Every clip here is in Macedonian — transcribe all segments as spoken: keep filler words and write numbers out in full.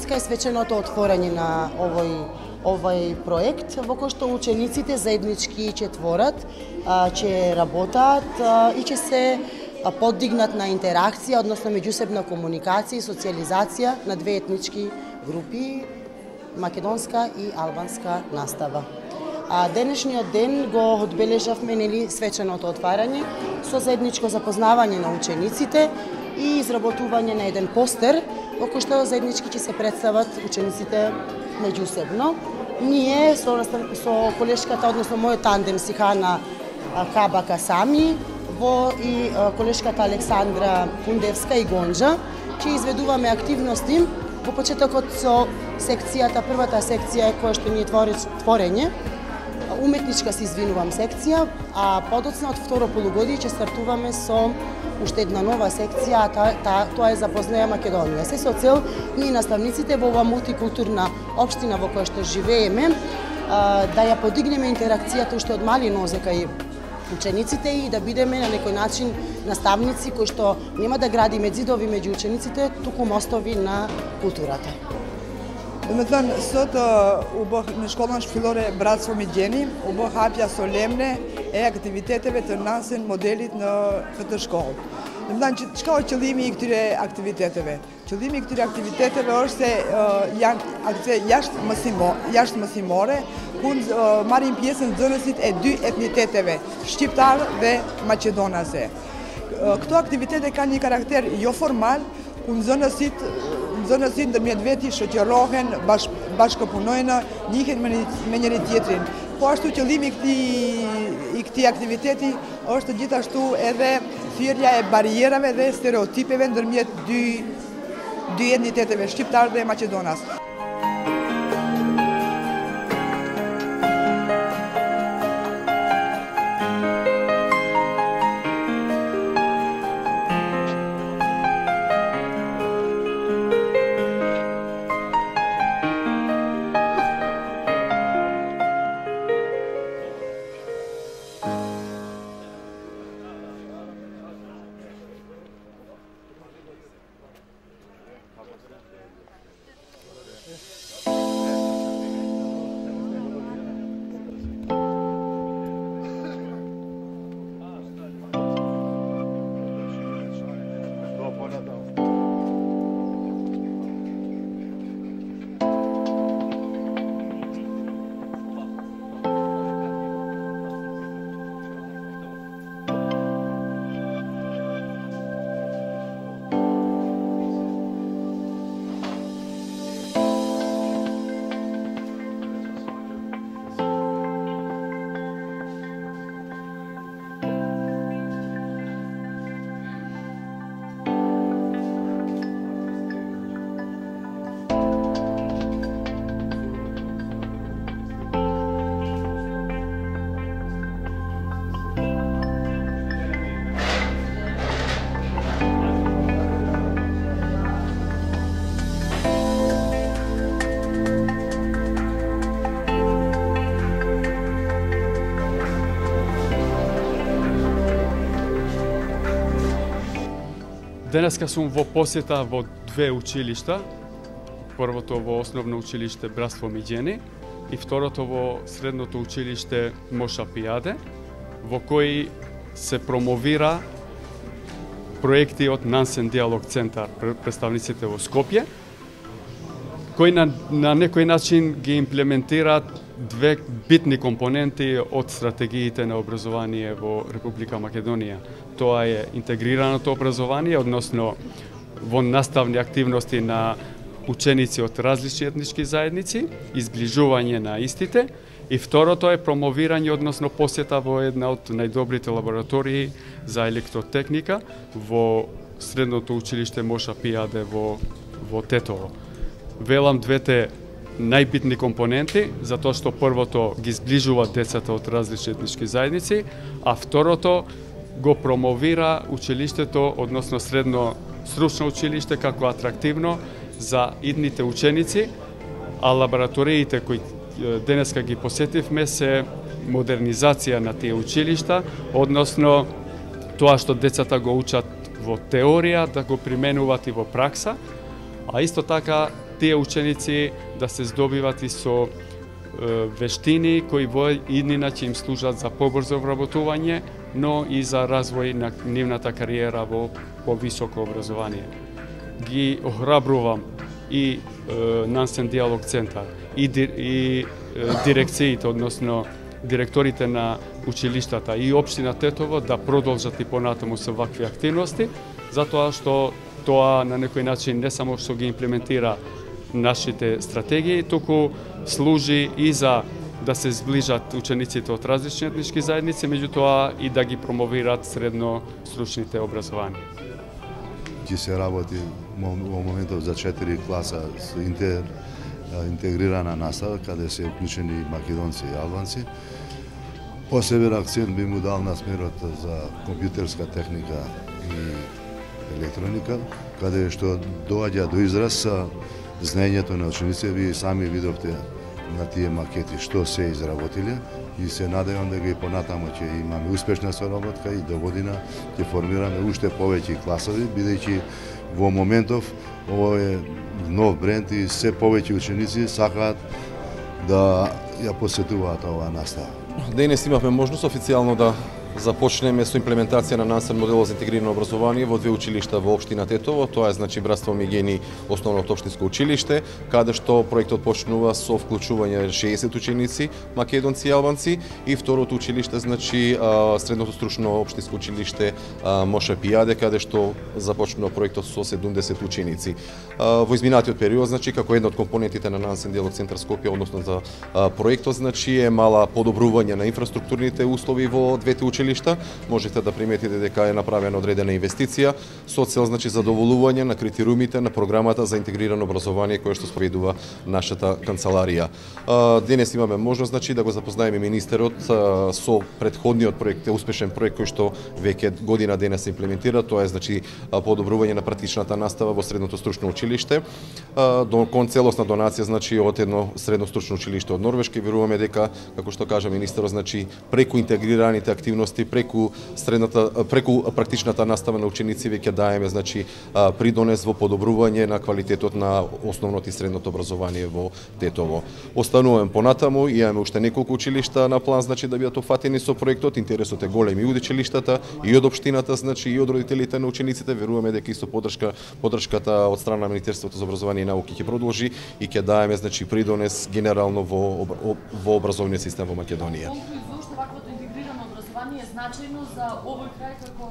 денеска е свеченото отворање на овој овој проект во кој што учениците заеднички ќе творат, ќе работат и ќе се подигнат на интеракција, односно меѓусебна комуникација и социјализација на две етнички групи, македонска и албанска настава. А денешниот ден го одбележавме нели свеченото отварање со заедничко запознавање на учениците и изработување на еден постер во кој што заеднички ќе се представат учениците меѓусебно. Ние со, со колешката, односно мојот тандем Сихана Кабака Сами во и колешката Александра Пундевска и Гонџа ќе изведуваме активности во почетокот со секцијата, првата секција која што ни е творење, уметничка се извинувам секција, а подоцна од второ полугодие ќе стартуваме со уште една нова секција, а та, та, тоа е Запознаја Македонија. Се со цел ние наставниците во оваа мултикултурна општина во која што живееме, да ја подигнеме интеракцијата уште од мали нозе кај учениците и да бидеме на некој начин наставници кои што нема да градиме ѕидови меѓу учениците, туку мостови на културата. Domethënë, sot u bë në shkollën shpillore Bratstvo Migjeni, u bë hapja solemne e aktiviteteve të nasin modelit në këtë shkollë. Domethënë, çka është qëllimi i këtyre aktiviteteve? Qëllimi i këtyre aktiviteteve është se janë aktivitete jashtë mësimore, jashtë mësimore, ku marrin pjesë nxënësit e dy etniteteve, shqiptar dhe maqedonase. Këto aktivitete kanë një karakter jo formal, ku nxënësit Nxënësit ndërmjet veti shoqërohen, bash, bashkëpunojnë, njihen me, me njëri tjetrin. Po ashtu qëllimi i këtij aktiviteti është gjithashtu edhe thirrja e barierave dhe stereotipeve ndërmjet dy dy etniteteve, shqiptar dhe maqedonas. Денеска сум во посета во две училишта. Првото во основно училиште Братство Миgjeni и второто во средното училиште Моша Пијаде, во кои се промовира проекти од Нансен Диалог Центар, представниците во Скопје, кои на, на некој начин ги имплементираат две битни компоненти од стратегиите на образование во Република Македонија. Тоа е интегрираното образование, односно во наставни активности на ученици од различни етнички заедници, изближување на истите, и второто е промовирање, односно посета во една од најдобрите лаборатории за електротехника во средното училиште Моша Пијаде во, во Тетово. Велам двете најбитни компоненти, затоа што првото ги зближува децата од различни етнички заедници, а второто го промовира училиштето, односно средно стручно училиште како атрактивно за идните ученици, а лабораториите кои денеска ги посетивме се модернизација на тие училишта, односно тоа што децата го учат во теорија да го применуваат и во пракса, а исто така тие ученици да се здобиват и со вештини кои во иднина ќе им служат за побрзо вработување, но и за развој на нивната кариера во повисоко образование. Ги охрабрувам и Нансен диалог центар и, и дирекциите, односно директорите на училиштата и општина Тетово да продолжат и понатаму со вакви активности, затоа што тоа на некој начин не само што ги имплементира нашите стратегии, туку служи и за да се зближат учениците од различни етнички заедници, меѓутоа и да ги промовираат средно стручните образование. Ќе се работи во моментов за четири класа со интер, интегрирана настава, каде се уклучени македонци и албанци. Посебен акцент би му дал на смерот за компјутерска техника и електроника, каде што доаѓа до израз знаењето на учениците. Вие сами видовте на тие макети што се изработиле и се надевам да ги понатаму ќе имаме успешна соработка и до година ќе формираме уште повеќе класови, бидејќи во моментов ово е нов бренд и се повеќе ученици сакаат да ја посетуваат оваа настава. Денес имавме можност официјално да започнеме со имплементација на Нансен модел за интегрирано образование во две училишта во општина Тетово. Тоа е значи Братство Мигени, основното општинско училиште, каде што проектот почнува со вклучување шеесет ученици, македонци и албанци, и второто училиште значи средното стручно општинско училиште Моша Пијаде, каде што започнува проектот со седумдесет ученици. Во изминатиот период значи како една од компонентите на Нансен диалог центар Скопје, односно за проектот значи е мала подобрување на инфраструктурните услови во двете училишта. Можете да приметите дека е направена одредена инвестиција со цел значи задоволување на критериумите на програмата за интегрирано образование која што спроведува нашата канцеларија. Денес имаме можност значи да го запознаеме министерот со претходниот проект, успешен проект кој што веќе година денес се имплементира, тоа е значи подобрување на практичната настава во средното стручно училиште, до кон целосна донација значи од едно средно стручно училиште од Норвешка. Веруваме дека, како што кажа министерот, значи преку интегрираните активности, преку средната преку практичната настава на ученици веќе даеме значи придонес во подобрување на квалитетот на основното и средното образование во Тетово. Остануваме понатаму, имаме уште неколку училишта на план значи да бидат опфатени со проектот. Интересот е голем и од училиштата и од општината значи и од родителите на учениците. Веруваме дека исто подршка подршката од страна на Министерството за образование и наука ќе продолжи и ќе даеме значи придонес генерално во во образовниот систем во Македонија. Е значајно за овој крај како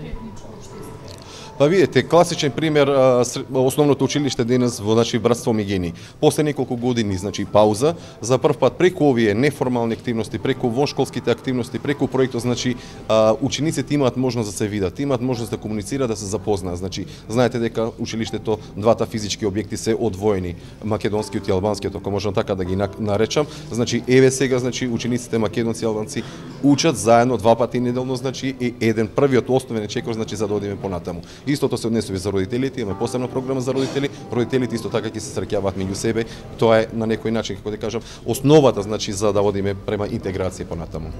етничко општество? Па видите, класичен пример, основното училиште денес во значи Братство Мигени. После неколку години значи пауза, за прв пат преку овие неформални активности, преку воншколските активности, преку проектот значи учениците имаат можност да се видат, имаат можност да комуницираат, да се запознаат. Значи знаете дека училиштето, двата физички објекти се одвоени, македонскиот и албанскиот, ако можам така да ги наречам. Значи еве сега значи учениците македонци и албанци учат заедно два пати неделно, значи и еден првиот основен чекор значи за да одиме понатаму. Истото се однесува за родителите, имаме посебна програма за родители. Родителите исто така ќе се среќаваат меѓу себе. Тоа е на некој начин, како да кажам, основата значи за да одиме према интеграција понатаму.